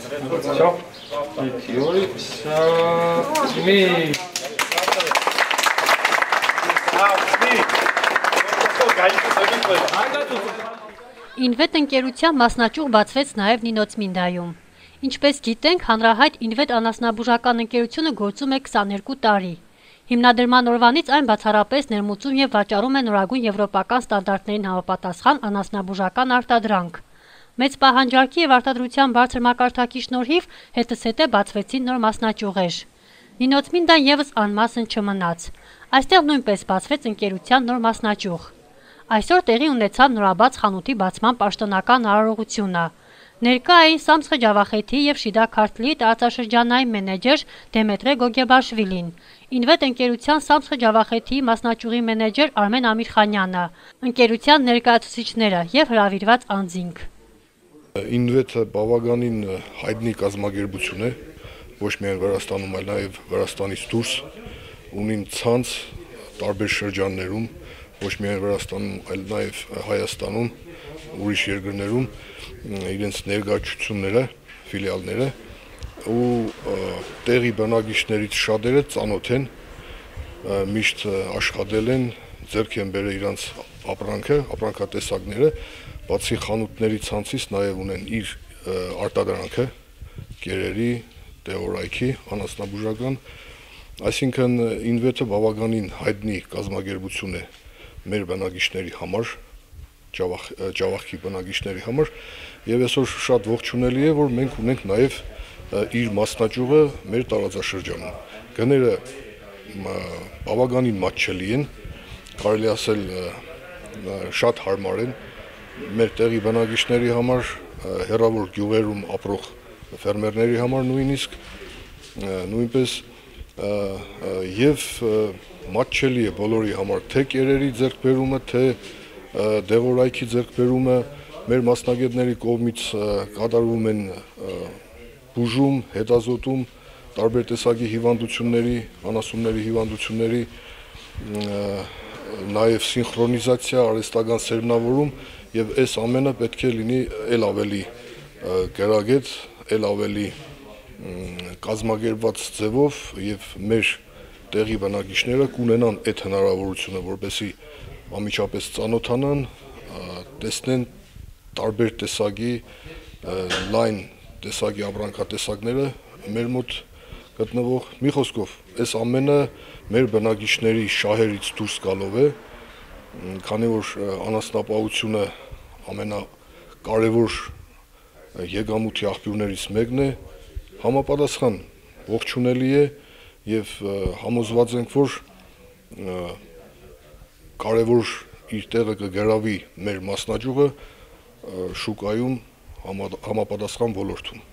Все. Ինվետ ընկերության մասնաճյուղ բացվեց նաև Նինոցմինդայում։ Ինչպես գիտենք, հանրահայտ Ինվետ անասնաբուժական ընկերությունը գործում է 22 տարի։ Հիմնադրման օրվանից այն բացառապես ներմուծում եւ վաճառում է նորագույն եվրոպական ստանդարտներին համապատասխան անասնաբուժական արտադրանք։ Մեծ պահանջարկի եւ արտադրության բարձր մակարդակի շնորհիվ հետզհետե բացվեցին նոր մասնաճյուղեր։ Նինոցմինդան եւս անմասն չմնաց։ Այստեղ նույնպես բացվեց ընկերության նոր մասնաճյուղ։ Այսօր տեղի ունեցավ նորաբաց խանութի բացման պաշտոնական արարողությունը։ Ներկա էին Սամսխե Ջավախեթի եւ Շիդա Քարթլիի տարածաշրջանային մենեջեր Դեմետրե Գոգեբաշվիլին, Ինվետ ընկերության Սամսխե Ջավախեթի մասնաճյուղի մենեջեր Արմեն Ամիրխանյանը, ընկերության ներկայացուցիչները եւ հրավիրված անձինք։ Ինվետը բավականին հայտնի կազմակերպություն է, ոչ միայն Վրաստանում, այլ նաև Վրաստանից դուրս, ունին ցանց տարբեր շրջաններում, ոչ միայն Վրաստանում, այլ նաև Հայաստանում, ուրիշ երկրներում իրենց ներկայացությունները, ֆիլիալները ու տեղի բնակիչներից շատերը ծանոթ են, միշտ աշխատել են, ձեռք են բերել իրենց ապրանքատեսակները, բացի խանութների ցանցից նաև ունեն իր արտադրանքը, կերերի, դեղորայքի, անասնաբուժական, այսինքն Ինվետը բավականին հայտնի կազմակերպություն է մեր բնակիչների համար, Ջավախքի բնակիչների համար, եւ այսօր շատ ողջունելի է, որ մենք ունենք նաև իր մասնաճյուղը մեր տարածաշրջանում։ Գները բավականին մատչելի են, կարելի ասել շատ հարմար են մեր տեղի բնակիչների համար, հեռավոր գյուղերում ապրող ֆերմերների համար նույնպես եւ մատչելի է բոլորի համար, թե կերերի ձեռքբերումը, թե դեղորայքի ձեռքբերումը, մեր մասնագետների կողմից կատարվում են բուժում, հետազոտում, տարբեր տեսակի հիվանդությունների, անասունների հիվանդությունների, նաև սինխրոնիզացիա, արհեստական սերմնավորում եւ այս ամենը պետք է լինի ել ավելի գրագետ, ել ավելի կազմակերպված ձևով եւ մեր տեղի բնակիչները կունենան այդ հնարավորությունը, որպեսզի ամիջապես ծանոթանան, տեսնեն տարբեր տեսակի լայն տեսակի ապրանքատեսակները մեր մոտ գտնվող, մի խոսքով, այս ամենը մեր բնակիչների շահերից դուրս գալով է, քանի որ անասնապահությունը ամենակարևոր եկամուտի աղբյուրներից մեկն է, համապատասխան ողջունելի է եւ համոզված ենք, որ կարևոր իր տեղը կգրավի մեր մասնաճյուղը շուկայում համապատասխան ոլորտում։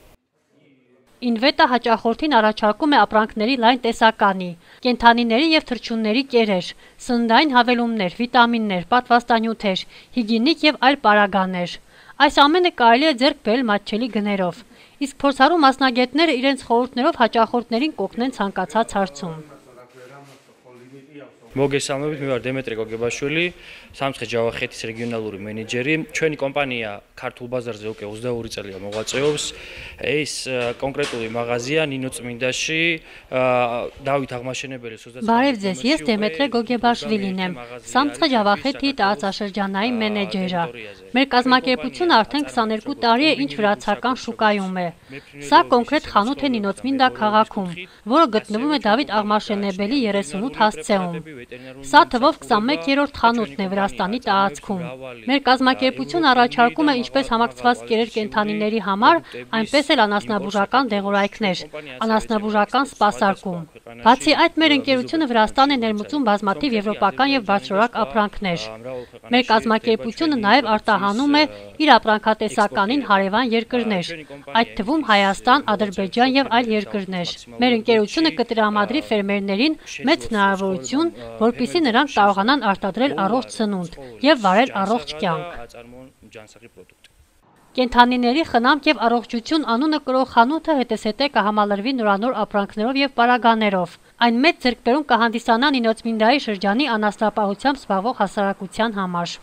Ինվետը հաճախորդին առաջարկում է ապրանքների լայն տեսականի, կենդանիների եւ թռչունների կերեր, սննդային հավելումներ, վիտամիններ, պատվաստանյութեր, հիգիենիկ եւ այլ պարագաներ։ Այս ամենը կարելի է ձեռք բերել մատչելի գներով։ Իսկ փորձառու մասնագետները իրենց խորհուրդներով հաճախորդներին կօգնեն ցանկացած հարցում։ Մոգեսալնովից մի վար Դեմետրե Գոգեբաշվիլի, Սամսխե Ջավախեթის ռեգիոնალური մենեջերի, ჩვენი კომპანია ქართულ ბაზარზე უკვე 22 წელია მოღვაწეობს. ეს კონკრეტული მაღაზია ნინოცმინდაში დავით აღმაშენებელი Բարև ձեզ, ես Դեմետրե Գոգեբաշվիլին եմ, Սամսխե Ջավախեթի տարածաշրջանային մենեջերը։ Մեր կազմակերպությունը արդեն 22 տարի է ինչ վրացական շուկայում է։ Սա կոնկրետ խանութ է Նինոցմինդա քաղաքում, որը գտնվում է Դավիթ Աղմաշենեբելի 38 հասցեում։ Սա թվով 21-րդ խանութն է Վրաստանի տարածքում։ Մեր կազմակերպությունը առաջարկում է ինչպես համակցված կերեր կենդանիների համար, այնպես էլ անասնաբուժական դեղորայքներ, անասնաբուժական սպասարկում։ Բացի այդ, մեր ընկերությունը Վրաստան է ներմուծում բազմաթիվ եվրոպական եւ բարձրորակ ապրանքներ։ Մեր կազմակերպությունը նաև արտահանում է իր ապրանքատեսականին հարևան երկրներ, այդ թվում Հայաստան, Ադրբեջան եւ այլ երկրներ։ Մեր ընկերությունը կտրամադրի ֆերմերներին մեծ հնարավորություն, որպեսզի նրանք կարողանան արտադրել առողջ սնունդ եւ վարել առողջ կյանք։ Կենդանիների խնամք եւ առողջություն անունը կրող խանութը հետզհետե կհամալրվի նորանոր ապրանքներով եւ պարագաներով։ Այն մեծ ձեռքբերում կհանդիսանա Նինոցմինդայի շրջանի անասնապահությամբ զբաղվող հասարակության համար։